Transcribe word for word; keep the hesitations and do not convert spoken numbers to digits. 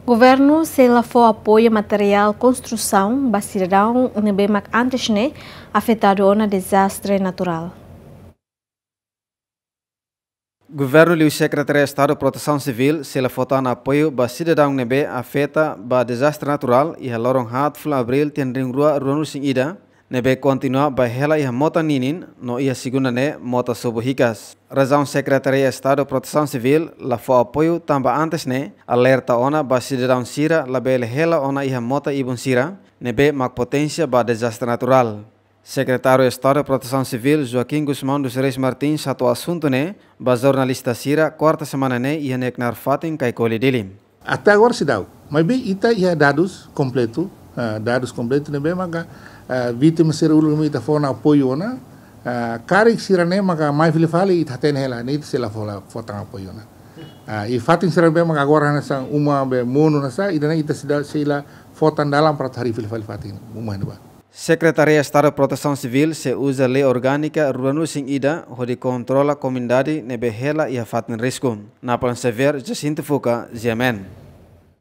Governu sei la fó apoiu materiál konstrusaun ba sidadaun ne'ebé mak antes ne'e afetadu ona dezastre naturál. Governu liu Sekretaria Estadu Protesaun Sivíl sei la fó tan apoiu ba sidadaun ne'ebé afeta ba dezastre naturál iha loron haat fulan Abríl tinan rihun rua ruanulu resin ida, ne'ebé kontinua bá hela iha mota ninin no iha segunda ne'e mota sobu hikas. Razaun Sekretaria Estadu Protesaun Sivíl la fó apoiu tanba antes ne'e alerta ona ba sidadaun sira labele hela ona iha mota ibun sira ne'ebé mak poténsia ba dezastre naturál. Sekretáriu Estadu Protesaun Sivíl Joaquim Gusmão dos Reis Martins hato'o asuntu ne'e ba jornalista sira kuarta semana ne'e iha ne'e knaar fatin Kaikoli, Dili. Até agora seidauk. Maibé ita iha dadus kompletu, ah, dadus kompletu ne'ebé maka, ah, vítima sira uluk ne'ebé ita fó ona apoiu ona, ah, karik sira-ne'e maka mai fila fali ita hatene hela, ne'e ita sei la fó la, fó tan apoiu ona. Ah, i fatin sira ne'ebé maka agora hanesan uma be monu hanesan, ida-ne'e ita seidauk, sei la fó tan dalan para atu harii fila fali fatin uma ne'ebá. Sekretaria Estadu Protesaun Sivíl sei uza lei orgánika ruanulu resin ida hodi kontrola komunidade ne'ebé hela iha fatin risku. Napoleon Xavier, Jacinto Fuca, G M N.